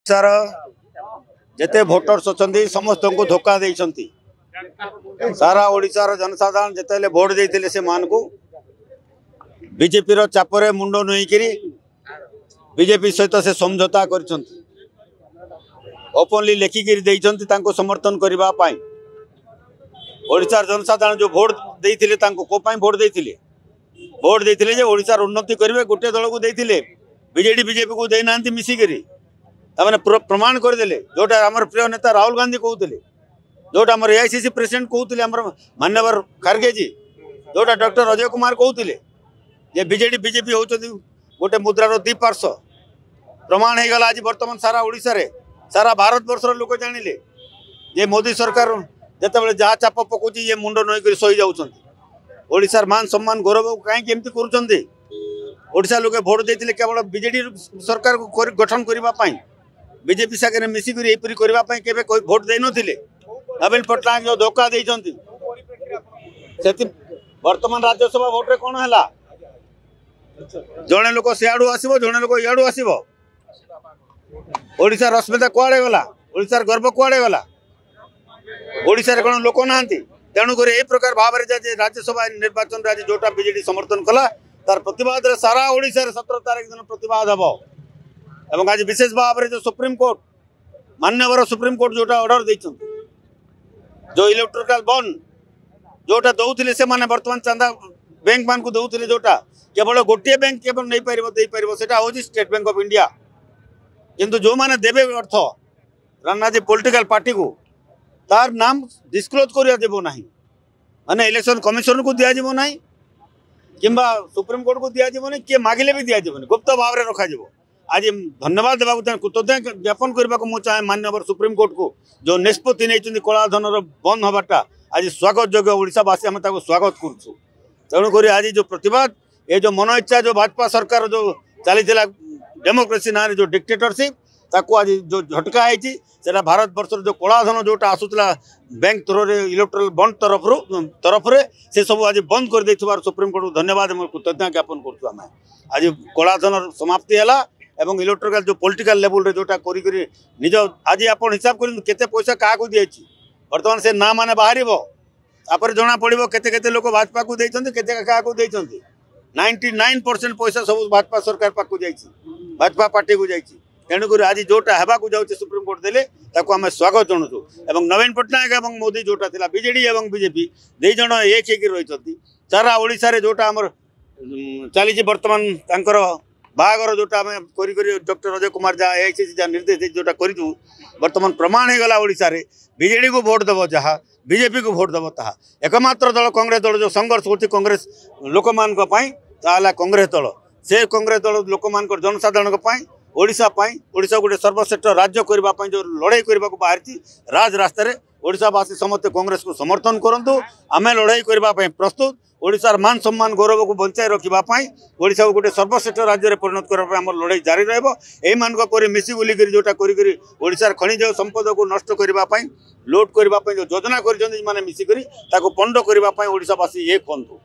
ଓଡ଼ିଶାର ଯେତେ ଭୋଟର୍ସ ଅଛନ୍ତି ସମସ୍ତଙ୍କୁ ଧୋକା ଦେଇଛନ୍ତି। ସାରା ଓଡ଼ିଶାର ଜନସାଧାରଣ ଯେତେବେଳେ ଭୋଟ ଦେଇଥିଲେ ସେମାନଙ୍କୁ ବିଜେପିର ଚାପରେ ମୁଣ୍ଡ ନୁଇଁକିରି ବିଜେପି ସହିତ ସେ ସମଝୋତା କରିଛନ୍ତି, ଓପନଲି ଲେଖିକିରି ଦେଇଛନ୍ତି ତାଙ୍କୁ ସମର୍ଥନ କରିବା ପାଇଁ। ଓଡ଼ିଶାର ଜନସାଧାରଣ ଯେଉଁ ଭୋଟ ଦେଇଥିଲେ ତାଙ୍କୁ କୋଉ ପାଇଁ ଭୋଟ ଦେଇଥିଲେ? ଭୋଟ ଦେଇଥିଲେ ଯେ ଓଡ଼ିଶାର ଉନ୍ନତି କରିବେ, ଗୋଟିଏ ଦଳକୁ ଦେଇଥିଲେ, ବିଜେଡି ବିଜେପିକୁ ଦେଇନାହାନ୍ତି ମିଶିକିରି। ତାମାନେ ପ୍ରମାଣ କରିଦେଲେ ଯେଉଁଟା ଆମର ପ୍ରିୟ ନେତା ରାହୁଲ ଗାନ୍ଧୀ କହୁଥିଲେ, ଯେଉଁଟା ଆମର ଏଆଇସିସି ପ୍ରେସିଡେଣ୍ଟ କହୁଥିଲେ, ଆମର ମାନ୍ୟବର ଖାର୍ଗେଜୀ, ଯେଉଁଟା ଡକ୍ଟର ଅଜୟ କୁମାର କହୁଥିଲେ ଯେ ବିଜେଡି ବିଜେପି ହେଉଛନ୍ତି ଗୋଟେ ମୁଦ୍ରାର ଦୁଇ ପାର୍ଶ୍ୱ। ପ୍ରମାଣ ହେଇଗଲା ଆଜି ବର୍ତ୍ତମାନ ସାରା ଓଡ଼ିଶାରେ, ସାରା ଭାରତବର୍ଷର ଲୋକ ଜାଣିଲେ ଯେ ମୋଦି ସରକାର ଯେତେବେଳେ ଯାହା ଚାପ ପକାଉଛି ଇଏ ମୁଣ୍ଡ ନଈକରି ସହିଯାଉଛନ୍ତି। ଓଡ଼ିଶାର ମାନ ସମ୍ମାନ ଗୌରବକୁ କାହିଁକି ଏମିତି କରୁଛନ୍ତି? ଓଡ଼ିଶା ଲୋକେ ଭୋଟ ଦେଇଥିଲେ କେବଳ ବିଜେଡି ସରକାରକୁ ଗଠନ କରିବା ପାଇଁ, ବିଜେପି ସାଙ୍ଗରେ ମିଶିକରି ଏପରି କରିବା ପାଇଁ କେବେ ଭୋଟ ଦେଇନଥିଲେ। ନବୀନ ପଟ୍ଟନାୟକ ଯେଉଁ ଧୋକା ଦେଇଛନ୍ତି, ସେଥି ବର୍ତ୍ତମାନ ରାଜ୍ୟସଭା ଭୋଟରେ କ'ଣ ହେଲା? ଜଣେ ଲୋକ ସିଆଡ଼ୁ ଆସିବ, ଜଣେ ଲୋକ ଇଆଡ଼ୁ ଆସିବ। ଓଡ଼ିଶାର ଅସ୍ମିତା କୁଆଡ଼େ ଗଲା? ଓଡ଼ିଶାର ଗର୍ବ କୁଆଡ଼େ ଗଲା? ଓଡ଼ିଶାରେ କ'ଣ ଲୋକ ନାହାନ୍ତି? ତେଣୁକରି ଏଇ ପ୍ରକାର ଭାବରେ ଯେ ରାଜ୍ୟସଭା ନିର୍ବାଚନରେ ଆଜି ଯୋଉଟା ବିଜେଡି ସମର୍ଥନ କଲା, ତାର ପ୍ରତିବାଦରେ ସାରା ଓଡ଼ିଶାରେ 17 ତାରିଖ ଦିନ ପ୍ରତିବାଦ ହେବ। ଏବଂ ଆଜି ବିଶେଷ ଭାବରେ ଯେଉଁ ସୁପ୍ରିମକୋର୍ଟ, ମାନ୍ୟବର ସୁପ୍ରିମକୋର୍ଟ ଯୋଉଟା ଅର୍ଡର ଦେଇଛନ୍ତି, ଯେଉଁ ଇଲେକ୍ଟ୍ରିକାଲ ବଣ୍ଡ ଯୋଉଟା ଦଉଥିଲେ ସେମାନେ ବର୍ତ୍ତମାନ ଚାନ୍ଦା ବ୍ୟାଙ୍କ ମାନଙ୍କୁ ଦଉଥିଲେ, ଯୋଉଟା କେବଳ ଗୋଟିଏ ବ୍ୟାଙ୍କ କେବଳ ନେଇପାରିବ ଦେଇପାରିବ, ସେଟା ହେଉଛି ଷ୍ଟେଟ୍ ବ୍ୟାଙ୍କ ଅଫ୍ ଇଣ୍ଡିଆ। କିନ୍ତୁ ଯେଉଁମାନେ ଦେବେ ଅର୍ଥ ରାଜନୀତି ପଲିଟିକାଲ ପାର୍ଟିକୁ, ତାର ନାମ ଡିସକ୍ଲୋଜ୍ କରାଯିବ ନାହିଁ, ମାନେ ଇଲେକ୍ସନ କମିଶନକୁ ଦିଆଯିବ ନାହିଁ କିମ୍ବା ସୁପ୍ରିମକୋର୍ଟକୁ ଦିଆଯିବନି, କିଏ ମାଗିଲେ ବି ଦିଆଯିବନି, ଗୁପ୍ତ ଭାବରେ ରଖାଯିବ। ଆଜି ଧନ୍ୟବାଦ ଦେବାକୁ ଚାହେଁ, କୃତଜ୍ଞତା ଜ୍ଞାପନ କରିବାକୁ ମୁଁ ଚାହେଁ ମାନ୍ୟବର ସୁପ୍ରିମକୋର୍ଟକୁ, ଯେଉଁ ନିଷ୍ପତ୍ତି ନେଇଛନ୍ତି କଳାଧନର ବନ୍ଦ ହେବାଟା ଆଜି ସ୍ୱାଗତ ଯୋଗ୍ୟ। ଓଡ଼ିଶାବାସୀ ଆମେ ତାକୁ ସ୍ୱାଗତ କରୁଛୁ। ତେଣୁକରି ଆଜି ଯେଉଁ ପ୍ରତିବାଦ, ଏ ଯେଉଁ ମନ ଇଚ୍ଛା ଯେଉଁ ଭାଜପା ସରକାର ଯେଉଁ ଚାଲିଥିଲା ଡେମୋକ୍ରେସି ନାଁରେ ଯେଉଁ ଡିକ୍ଟେଟରସିପ୍, ତାକୁ ଆଜି ଯେଉଁ ଝଟକା ହେଇଛି, ସେଟା ଭାରତବର୍ଷର ଯେଉଁ କଳାଧନ ଯେଉଁଟା ଆସୁଥିଲା ବ୍ୟାଙ୍କ ଥ୍ରୋରେ ଇଲେକ୍ଟ୍ରାଲ ବଣ୍ଡ ତରଫରେ, ସେସବୁ ଆଜି ବନ୍ଦ କରିଦେଇଥିବାରୁ ସୁପ୍ରିମକୋର୍ଟକୁ ଧନ୍ୟବାଦ ଏବଂ କୃତଜ୍ଞତା ଜ୍ଞାପନ କରୁଛୁ ଆମେ। ଆଜି କଳାଧନର ସମାପ୍ତି ହେଲା ଏବଂ ଇଲେକ୍ଟ୍ରିକାଲ ଯେଉଁ ପଲିଟିକାଲ ଲେବୁଲରେ ଯେଉଁଟା କରିକରି ନିଜ ଆଜି ଆପଣ ହିସାବ କରନ୍ତୁ କେତେ ପଇସା କାହାକୁ ଦିଆଯାଇଛି। ବର୍ତ୍ତମାନ ସେ ନାଁ ମାନେ ବାହାରିବ, ତାପରେ ଜଣାପଡ଼ିବ କେତେ କେତେ ଲୋକ ଭାଜପାକୁ ଦେଇଛନ୍ତି, କେତେ କାହାକୁ ଦେଇଛନ୍ତି। 99% ପଇସା ସବୁ ଭାଜପା ସରକାର ପାଖକୁ ଯାଇଛି, ଭାଜପା ପାର୍ଟିକୁ ଯାଇଛି। ତେଣୁକରି ଆଜି ଯେଉଁଟା ହେବାକୁ ଯାଉଛି ସୁପ୍ରିମକୋର୍ଟ ଦେଲେ, ତାକୁ ଆମେ ସ୍ୱାଗତ ଜଣାଉଛୁ। ଏବଂ ନବୀନ ପଟ୍ଟନାୟକ ଏବଂ ମୋଦି ଯେଉଁଟା ଥିଲା, ବିଜେଡି ଏବଂ ବିଜେପି ଦୁଇ ଜଣ ଏକ ହେଇକି ରହିଛନ୍ତି। ସାରା ଓଡ଼ିଶାରେ ଯେଉଁଟା ଆମର ଚାଲିଛି ବର୍ତ୍ତମାନ ତାଙ୍କର ବାହାଘର, ଯେଉଁଟା ଆମେ କରି କରି ଡକ୍ଟର ଅଜୟ କୁମାର ଯାହା ଏଆଇସିସି ଯାହା ନିର୍ଦ୍ଦେଶ ଦେଇଛି ଯେଉଁଟା କରିଛୁ, ବର୍ତ୍ତମାନ ପ୍ରମାଣ ହେଇଗଲା ଓଡ଼ିଶାରେ ବିଜେଡ଼ିକୁ ଭୋଟ ଦେବ ଯାହା, ବିଜେପିକୁ ଭୋଟ ଦେବ ତାହା। ଏକମାତ୍ର ଦଳ କଂଗ୍ରେସ ଦଳ ଯେଉଁ ସଂଘର୍ଷ କରୁଛି କଂଗ୍ରେସ ଲୋକମାନଙ୍କ ପାଇଁ, ତାହା ହେଲା କଂଗ୍ରେସ ଦଳ। ସେ କଂଗ୍ରେସ ଦଳ ଲୋକମାନଙ୍କର ଜନସାଧାରଣଙ୍କ ପାଇଁ, ଓଡ଼ିଶା ପାଇଁ, ଓଡ଼ିଶା ଗୋଟେ ସର୍ବଶ୍ରେଷ୍ଠ ରାଜ୍ୟ କରିବା ପାଇଁ ଯେଉଁ ଲଢ଼େଇ କରିବାକୁ ବାହାରିଛି ରାଜ ରାସ୍ତାରେ, ଓଡ଼ିଶାବାସୀ ସମସ୍ତେ କଂଗ୍ରେସକୁ ସମର୍ଥନ କରନ୍ତୁ। ଆମେ ଲଢ଼େଇ କରିବା ପାଇଁ ପ୍ରସ୍ତୁତ। ଓଡ଼ିଶାର ମାନ ସମ୍ମାନ ଗୌରବକୁ ବଞ୍ଚାଇ ରଖିବା ପାଇଁ, ଓଡ଼ିଶାକୁ ଗୋଟେ ସର୍ବଶ୍ରେଷ୍ଠ ରାଜ୍ୟରେ ପରିଣତ କରିବା ପାଇଁ ଆମର ଲଢ଼େଇ ଜାରି ରହିବ। ଏଇମାନଙ୍କ ପରି ମିଶି ବୁଲିକରି ଯେଉଁଟା କରିକରି ଓଡ଼ିଶାର ଖଣିଜ ସମ୍ପଦକୁ ନଷ୍ଟ କରିବା ପାଇଁ, ଲୁଟ୍ କରିବା ପାଇଁ ଯେଉଁ ଯୋଜନା କରିଛନ୍ତି ମାନେ ମିଶିକରି, ତାକୁ ପଣ୍ଡ କରିବା ପାଇଁ ଓଡ଼ିଶାବାସୀ ଏକ ହୁଅନ୍ତୁ।